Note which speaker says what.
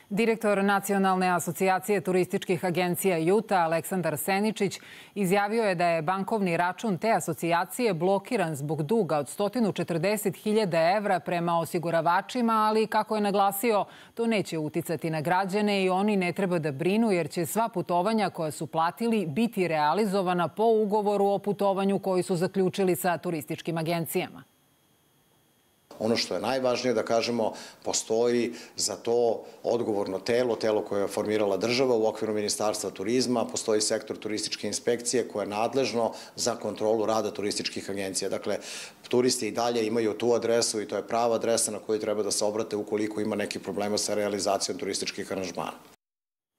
Speaker 1: Direktor Nacionalne asocijacije turističkih agencija JUTA, Aleksandar Seničić, izjavio je da je bankovni račun te asocijacije blokiran zbog duga od 140.000 evra prema osiguravačima, ali, kako je naglasio, to neće uticati na građane i oni ne treba da brinu jer će sva putovanja koja su platili biti realizovana po ugovoru o putovanju koji su zaključili sa turističkim agencijama.
Speaker 2: Ono što je najvažnije da kažemo, postoji za to odgovorno telo koje je formirala država u okviru Ministarstva turizma, postoji sektor turističke inspekcije koje je nadležno za kontrolu rada turističkih agencija. Dakle, turisti i dalje imaju tu adresu i to je prava adresa na koju treba da se obrate ukoliko ima nekih problema sa realizacijom turističkih aranžmana.